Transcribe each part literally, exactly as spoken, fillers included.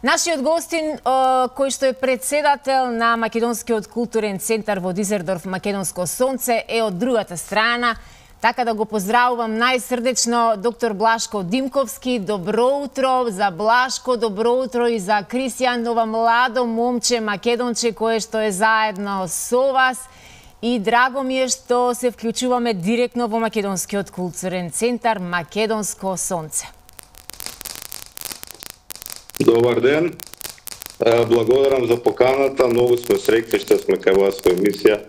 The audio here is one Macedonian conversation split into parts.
Нашиот гостин, кој што е председател на Македонскиот културен центар во Дизелдорф Македонско сонце, е од другата страна. Така да го поздравувам најсрдечно доктор Блашко Димковски. Добро утро за Блашко, добро утро и за Кристијан, ова младо момче македонче кое што е заедно со вас. И драго ми е што се вклучуваме директно во Македонскиот културен центар Македонско сонце. Добар ден. Благодарам за поканата. Многу сме среќни што сме кај вас во емисија.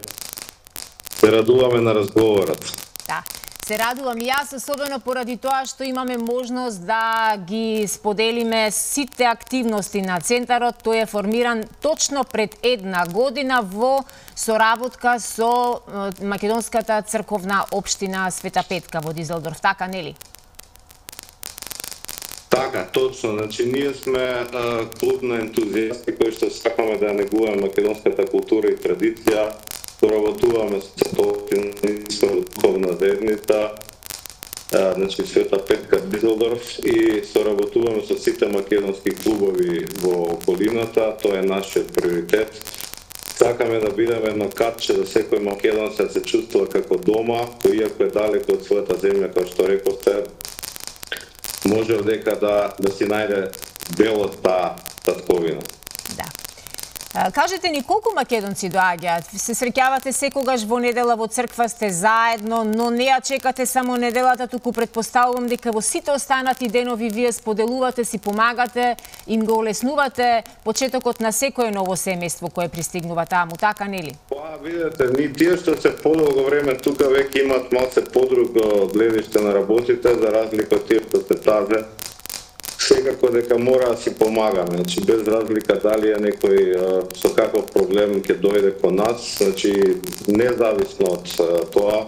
Се радуваме на разговорот. Да, се радувам и јас, особено поради тоа што имаме можност да ги споделиме сите активности на центарот. Тој е формиран точно пред една година во соработка со Македонската црковна општина Света Петка во Дизелдорф, така нели? Така, точно. Значи, ние сме а, клуб на ентузијасти кои што сакаме да негуваме македонската култура и традиција. Соработуваме со тоа, духовна заедница, а, значи Света Петка Дизелдорф, и соработуваме со сите македонски клубови во околината. Тоа е нашиот приоритет. Сакаме да бидеме едно катче да секој македонец се чувствува како дома, кој иако е далеко од својата земја, како што рековте, може одека да, да си најде дел од таа татковина. Да. Кажете ни колку македонци доаѓаат? Се среќавате секогаш во недела во црква, сте заедно, но не ја чекате само неделата, туку предпоставувам дека во сите останати денови вие споделувате, си помагате, им го олеснувате почетокот на секое ново семејство кое пристигнува таму, така нели? Па, видете, ни тие што се подолго време тука веќе имат малце подруго гледиште на работите, за разлика од тие што се тазе. Секако дека мора да си помагаме, значи без разлика дали е некој со каков проблем ќе дојде кон нас, значи независно од тоа,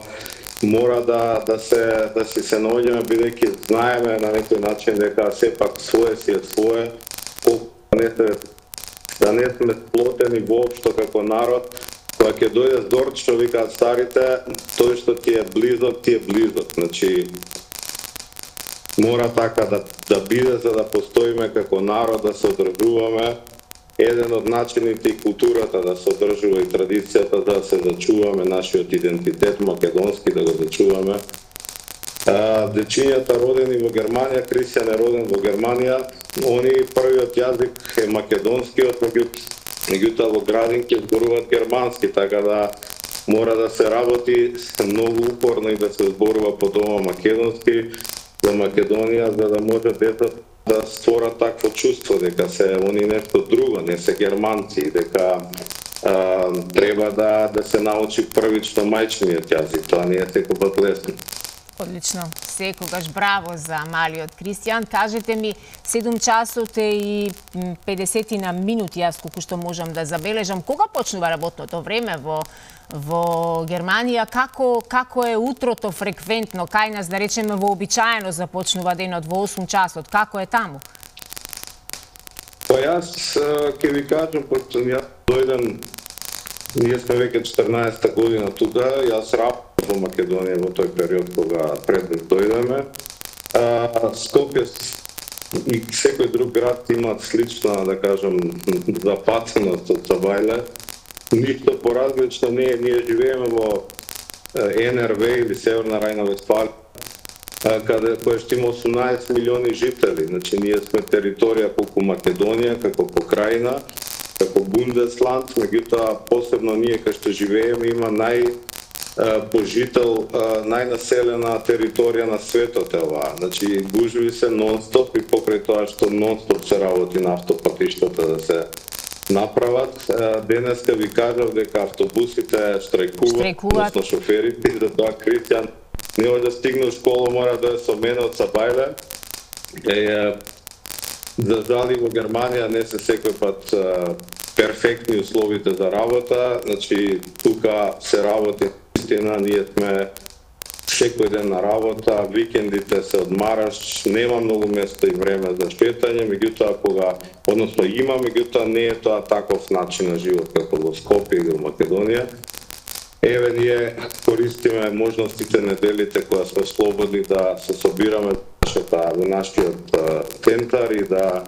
мора да да се да си се наоѓаме, бидејќи знаеме на некој начин дека сепак свое си е свое, колку не се да не сме сплотени воопшто како народ. Кога ќе дојде зорд, што викаат старите, тој што ти е близок, ти е близок. Значи мора така да, да биде за да постоиме како народ, да се одржуваме. Еден од начините и културата да се одржува и традицијата да се зачуваме нашиот идентитет македонски, да го зачуваме. А, дечињата родени во Германија, Кристијан е роден во Германија, они првиот јазик е македонскиот, меѓутоа во градинки зборуваат германски, така да мора да се работи многу упорно и да се зборува по дома македонски за Македонија, за да може децата да створат такво чувство дека се они нешто друго, не се германци, дека а, треба да да се научи првично мајчиниот јазик. Тоа не е секогаш лесно. Одлично, секогаш браво за малиот Кристијан. Кажете ми, седум часот и педесетина минути, јас колку што можам да забележам, кога почнува работното време во во Германија, како како е утрото фреквентно, кај нас да речеме вообичаено започнува денот во осум часот, како е таму? Па јас ќе ви кажам, пошто јас дојдам, ние сме веќе четрнаесета година тука, јас работам во Македонија во тој период кога пред да дојдеме. Скопје и секој друг град имаат слична, да кажам, запатеност од Сабајле. Ништо поразлично не е, ние живееме во Ен Ер Ве или Северна Рајна Вестфалија, каде кој што има осумнаесет милиони жители. Значи ние сме територија колку Македонија, како покрајна, како Бундесланд, меѓутоа посебно ние кај што живееме има нај пожител, најнаселена територија на светот е оваа. Значи гужви се нон-стоп и покрај тоа што нон-стоп се работи на автопатиштата да се направат. Денеска ви кажав дека автобусите штрајкуваат, односно шоферите, и за тоа Кристијан не може да стигне у школа, мора да е со мене од Сабајле. Е, за жали во Германија не се секој пат а, перфектни условите за работа, значи тука се работи истина, ние сме секој ден на работа, викендите се одмараш, нема многу место и време за шетање, меѓутоа кога, односно има, меѓутоа не е тоа таков начин на живот како во Скопје или во Македонија. Еве ние користиме можностите неделите кога сме слободни да се собираме во нашиот центар и да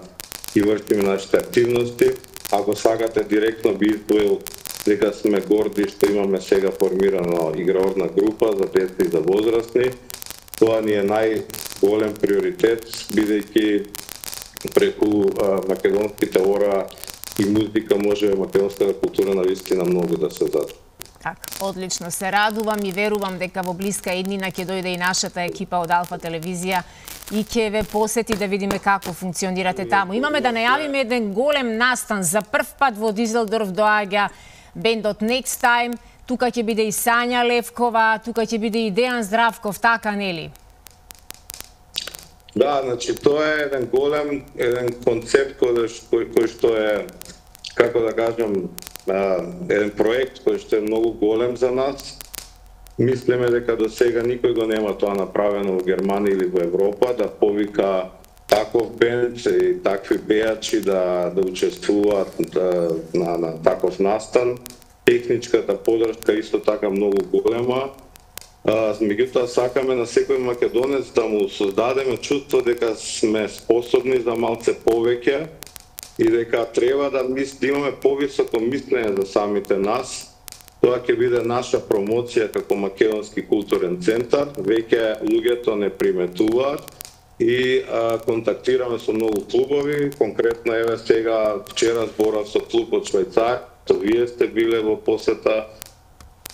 и вршиме нашите активности. Ако сакате директно би изброил дека сме горди што имаме сега формирано играорна група за деца и за возрастни. Тоа ни е најголем приоритет, бидејќи преку а, македонските ора и музика може македонската култура навистина многу да се зад. Так, одлично, се радувам и верувам дека во блиска иднина ќе дојде и нашата екипа од Алфа телевизија и ќе ве посети да видиме како функционирате таму. Имаме да најавиме еден голем настан. За прв пат во Дизелдорф доаѓа бендот Next Time, тука ќе биде и Сања Левкова, тука ќе биде и Дејан Здравков, така нели? Да, значи тоа е еден голем, еден концепт кој, кој, кој што е, како да кажам, еден проект кој што е многу голем за нас. Мислиме дека до сега никој го нема тоа направено во Германија или во Европа, да повика таков бенд и такви пејачи да, да учествуваат да, на, на таков настан. Техничката подршка исто така многу голема. Меѓутоа сакаме на секој македонец да му создадеме чувство дека сме способни за малце повеќе и дека треба да, мис, да имаме повисоко мислење за самите нас. Тоа ќе биде наша промоција како Македонски културен центар. Веќе луѓето не приметуваат и а, контактираме со многу клубови. Конкретно еве сега вчера зборав со клуб од Швајцарија, вие сте биле во посета.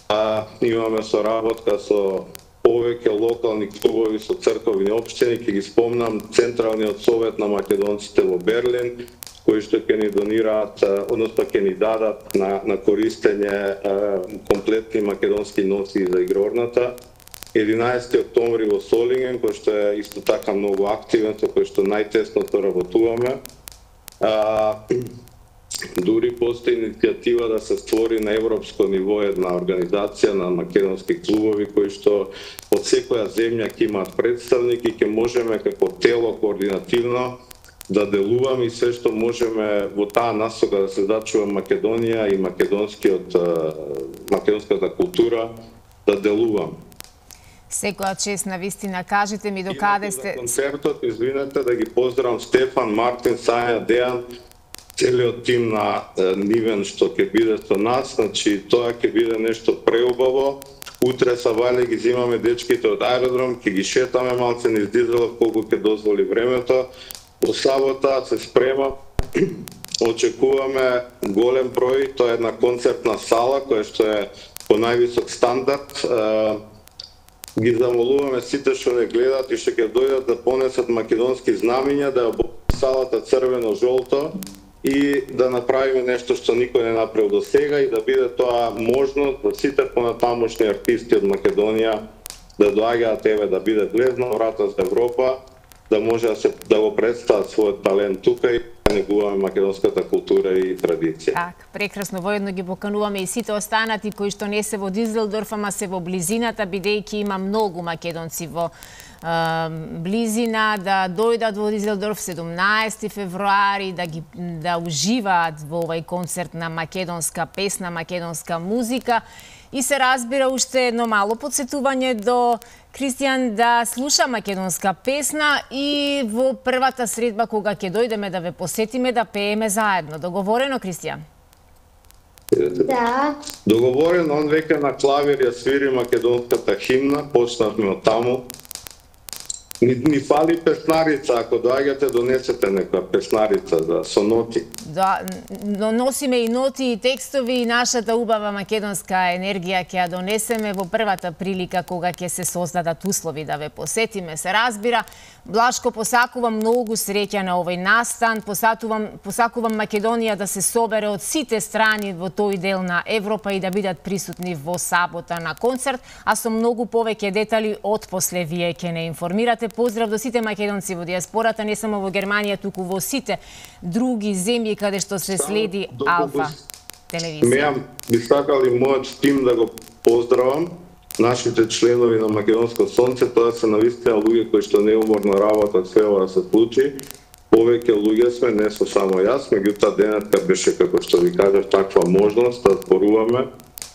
А, имаме соработка со повеќе локални клубови со црковни општини. Ќе ги спомнам Централниот совет на македонците во Берлин, кои што ќе ни донираат, односно ќе ни дадат на, на користење комплетни македонски носи за игрорната. единаесети октомври во Солинген, кој што е исто така многу активен, со кој што најтесно работуваме. А, дури постои иницијатива да се створи на европско ниво една организација на македонски клубови кои што од секоја земја ќе имаат представник и ќе можеме како тело координативно да делуваме и се што можеме во таа насока да се зачува Македонија и македонскиот македонската култура да делуваме. Секоја чест на вистина, кажете ми докаде сте... За концертот, извинете, да ги поздравам Стефан, Мартин, Сања, Дејан, целиот тим на Нивен што ќе биде со нас, значи тоа ќе биде нешто преубаво. Утре са вале ги зимаме дечките од аеродром, ќе ги шетаме малце низ Дизелдорф колку ќе дозволи времето. По сабота се спрема, очекуваме голем број, тоа е една концертна сала која што е по највисок стандард. Ги замолуваме сите што не гледат и што ќе дојдат да понесат македонски знамиња, да обојат салата црвено-жолто и да направиме нешто што никој не направил до сега и да биде тоа можност за сите понатамошни артисти од Македонија да доаѓаат еве да биде влезна врата за Европа, да може да, се, да го представат својот талент тука и да негуваме македонската култура и традиција. Так, прекрасно, воедно ги покануваме и сите останати кои што не се во Дизелдорф, ама се во близината, бидејќи има многу македонци во близина, да дојдат во Дизелдорф седумнаесети февруари, да ги да уживаат во овај концерт на македонска песна, македонска музика. И се разбира уште едно мало подсетување до Кристијан да слуша македонска песна и во првата средба кога ќе дојдеме да ве посетиме да пееме заедно. Договорено, Кристијан? Да. Договорено, он веќе на клавир ја свири македонската химна, почнавме од таму. Ни, ни фали песнарица, ако доаѓате донесете некоја песнарица за со ноти. Да, но носиме и ноти и текстови и нашата убава македонска енергија ќе ја донесеме во првата прилика кога ќе се создадат услови да ве посетиме. Се разбира, Блашко, посакувам многу среќа на овој настан, посакувам, посакувам Македонија да се собере од сите страни во тој дел на Европа и да бидат присутни во сабота на концерт, а со многу повеќе детали од после вие ќе не информирате. Поздрав до сите македонци во диаспората, не само во Германија, туку во сите други земји каде што се следи Алфа телевизија. Мејам би сакал и мојот тим да го поздравам, нашите членови на Македонско сонце, тоа се навистина луѓе кои што неуморно работат све ова да се случи. Повеќе луѓе сме, не со само јас, меѓутоа денеска беше, како што ви кажав, таква можност да зборуваме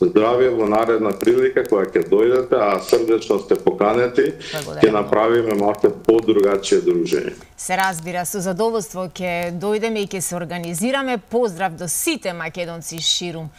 здравје во наредна прилика која ќе дојдете, а срдечно сте поканети, ќе направиме малку подругачие дружење. Се разбира, со задоволство ќе дојдеме и ќе се организираме. Поздрав до сите македонци ширум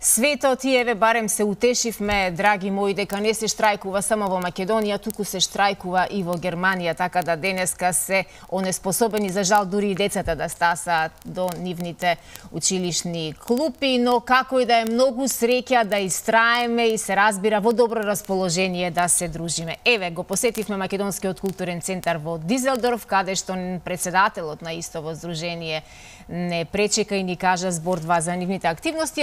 светот и еве барем се утешивме, драги мои, дека не се штрајкува само во Македонија, туку се штрајкува и во Германија, така да денеска се онеспособени, за жал дури и децата да стасаат до нивните училишни клупи, но како и да е, многу среќа да истраеме и се разбира во добро расположение да се дружиме. Еве, го посетивме Македонскиот културен центар во Дизелдорф, каде што председателот на истово здружение не пречека и ни кажа збор два за нивните активности.